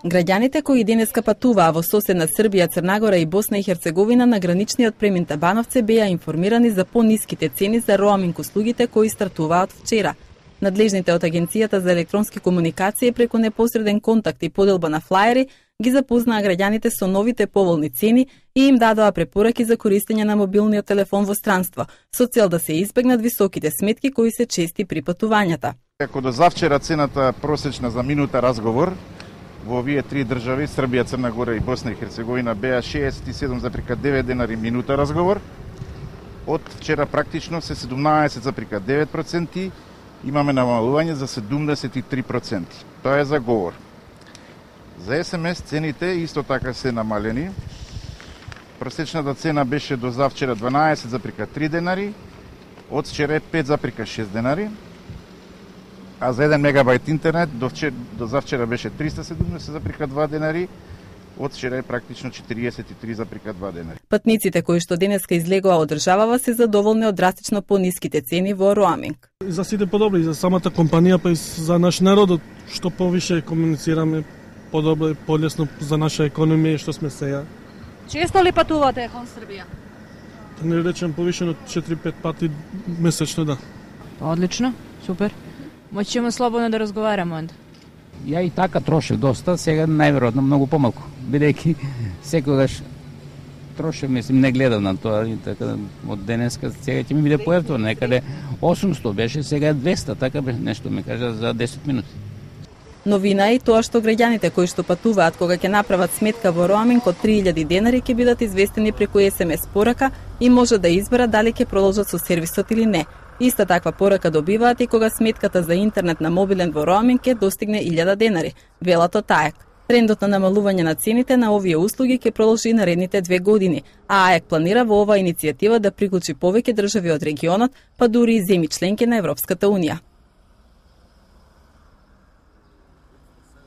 Граѓаните кои денеска патуваа во соседна Србија, Црнагора и Босна и Херцеговина на граничниот премин Табановце беа информирани за пониските цени за роаминг услугите кои стартуваат вчера. Надлежните од Агенцијата за електронски комуникации преку непосреден контакт и поделба на флаери ги запознаа граѓаните со новите поволни цени и им дадоа препораки за користење на мобилниот телефон во странство, со цел да се избегнат високите сметки кои се чести при патувањата. Ако до завчера цената просечна за минута разговор во овие три држави, Србија, Црна Гора и Босна и Херцеговина, беа 67,9 денари минута разговор, од вчера практично се 17,9%, имаме намалување за 73%. Тоа е за говор. За СМС цените исто така се намалени. Просечната цена беше до завчера 12,3 денари, од вчера е 5,6 денари, а за 1 мегабајт интернет до завчера беше 370,2 денари, од вчера е практично 43,2 денари. Патниците кои што денеска излегоа од државава се задоволни од драстично пониските цени во роаминг. За сите подобро и за самата компанија, па и за наш народ, што повише комуницираме, подобро и полесно за наша економија што сме сеја. Често ли патувате кон Србија? Да не речем повише од 4-5 пати месечно, да. Одлично, супер. Можеме слободно да разговараме онда. Ја и така трошев доста, сега најверојатно многу помалку, бидејќи секогаш трошев, мислим, не гледам на тоа, така од денеска сега ќе ми биде поевтино, некаде 800 беше, сега 200, така беше нешто ми кажа за 10 минути. Новина е и тоа што граѓаните кои што патуваат кога ќе направат сметка во роаминг од 3000 денари ќе бидат известени преку SMS порака и може да изберат дали ќе продолжат со сервисот или не. Иста таква порака добиваат и кога сметката за интернет на мобилен во роаминг ќе достигне 1000 денари, велат од АЕК. Трендот на намалување на цените на овие услуги ќе продолжи наредните 2 години, а АЕК планира во оваа иницијатива да приклучи повеќе држави од регионот, па дури и земји членки на Европската унија.